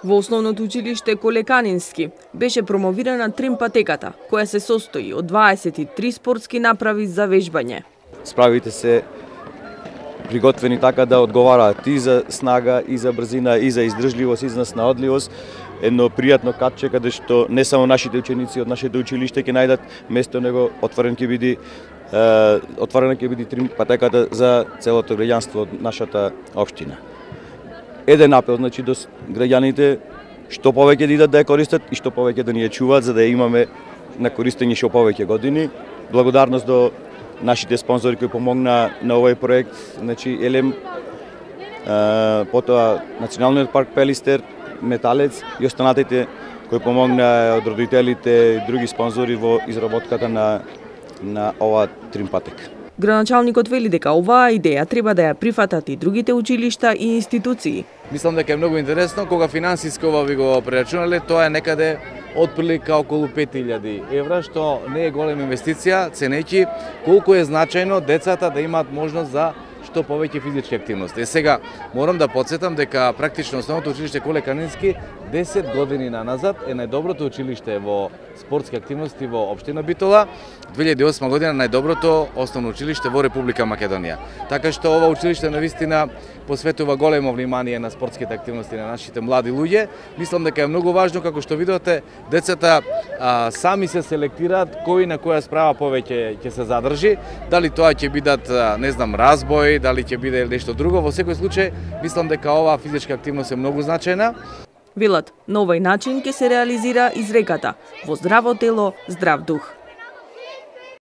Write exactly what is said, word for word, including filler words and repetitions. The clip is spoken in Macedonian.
Во основното училиште Колеканински беше промовирана тримпатеката, која се состои од дваесет и три спортски направи за вежбање. Справите се приготвени така да одговараат и за снага, и за брзина, и за издржливост, и за снаодливост. Едно пријатно катче каде што не само нашите ученици од нашето училиште ќе најдат место, него отворен ќе биде е, отворена ќе биде тримпатеката за целото граѓанство од нашата општина. Еден апел, значи, до граѓаните што повеќе да идат да ја користат и што повеќе да ни ја чуваат, за да ја имаме на користење што повеќе години. Благодарност до нашите спонзори кои помогна на овој проект, значи Елем, потоа Националниот парк Пелистер, Металец и останатите кои помогна од родителите и други спонзори во изработката на на оваа тримпатека. Градоначалникот вели дека оваа идеја треба да ја прифатат и другите училишта и институции. Мислам дека е многу интересно, кога финансиски ова ви го прерачунале, тоа е некаде отприлика околу пет илјади евра, што не е голема инвестиција, ценејќи колку е значајно децата да имаат можност за што повеќе физички активности. Е сега морам да потсетам дека практично основното училиште Колеканински десет години наназад е најдоброто училиште во спортски активности во општина Битола, две илјади и осма година најдоброто основно училиште во Република Македонија. Така што ова училиште навистина посветува големо внимание на спортските активности на нашите млади луѓе. Мислам дека е многу важно, како што видите, децата а, сами се селектираат кој на која справа повеќе ќе се задржи, дали тоа ќе бидат, не знам, разбој, дали ќе биде нешто друго. Во секој случај, мислам дека оваа физичка активност е многу значајна. Велат, на овој начин ќе се реализира изреката: во здраво тело, здрав дух.